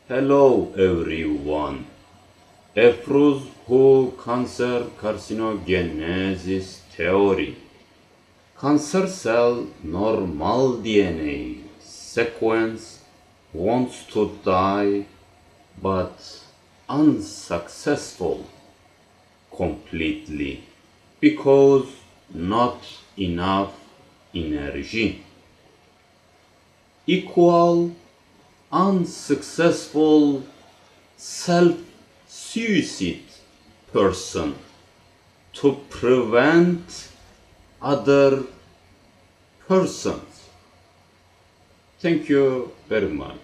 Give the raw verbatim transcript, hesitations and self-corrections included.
Hello everyone. Efruz who cancer carcinogenesis theory. Cancer cell normal D N A sequence wants to die but unsuccessful completely because not enough energy. Equal unsuccessful self-suicide person to prevent other persons. Thank you very much.